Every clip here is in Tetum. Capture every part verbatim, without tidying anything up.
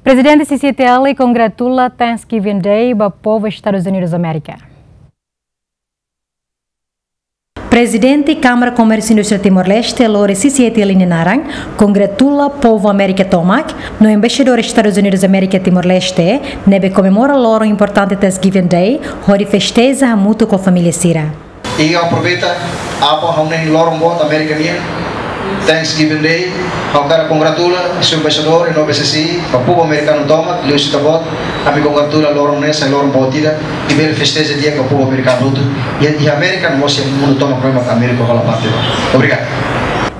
Prezidente C C I T L kongratula Thanksgiving Day ba povu Estadus Unidus Amérika. Prezidente Kámara Komérsiu Indústria Timor-Leste, lori C C I T L nia naran, kongratula povu Amérika tomak, no Embaixadór Estadus Unidus Amérika Timor-Leste, ne'ebé komemora loron importante Thanksgiving Day, hodi festeja hamutuk ho família sira. I aproveita, apa ha'u-nia loron boot Amérika nian, Thanksgiving Day, ha'u hakarak kongratula, Señór Embaixadór, i no B C C, ba povu amerikanu tomak, liuhusi ita-boot, ami kongratula loron ne'e sai loron boot ida, i bele festeja di'ak ba povu amerikanu hotu, i, i Amérika no mós iha mundu tomak, no ema Amérika hola parte ba. Obrigadu.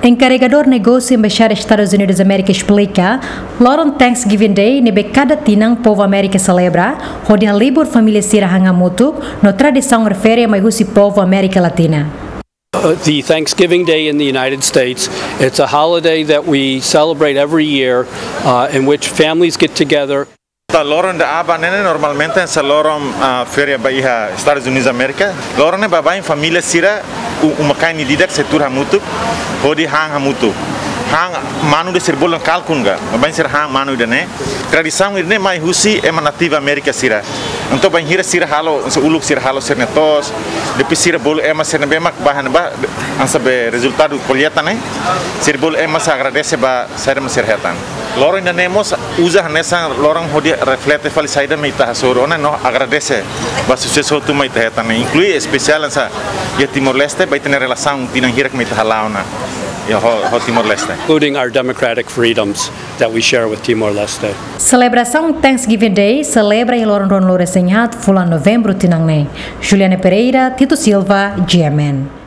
Enkarregadór negósiu Embaixada Estadus Unidus Amérika esplika, loron Thanksgiving Day ne'ebé kada tinan povu Amérika selebra, hodi halibur família sira han hamutuk, no tradisaun refere mai husi povu Amérika Latina. Uh, the Thanksgiving Day in the United States, it's a holiday that we celebrate every year, uh, in which families get together. Loron ida-ne'e normalmente sai loron, ah, feria ba iha Estadus Unidus Amérika. Loron ne'e baibain família sira, u-, uma-kain ida-idak sei tuur hamutuk, hodi han hamutuk. Han manu ida sira bolu kalkun ka, baibain sira han manu ida-ne'e. Tradisaun ida-ne'e mai husi ema nativu Amérika sira. Entaun bainhira sira halo, se uluk sira halo sira-nia to'os, depois sira bolu ema sira ne'ebé mak bá hanesan, hanesan rezultadu kolleita ne'e, sira bolu ema sira agradese ba saida mak sira hetan. Loron ida-ne'e mós uza hanesan loron hodi reflete fali saida mak ita hasoru ona no agradese ba susesu hotu mak ita hetan, inklui espesiál hanesan iha Timor-Leste, ba ita-nia relasaun tinan hirak mak ita hala'o ona iha ho, ho Timor-Leste. Including our democratic freedoms that we share with Timor-Leste. Selebrasaun Thanksgiving Day selebra iha loron ruanulu-resin-haat fulan Novembru tinan ne'e. Juliana Pereira, Tito Silva, G M N.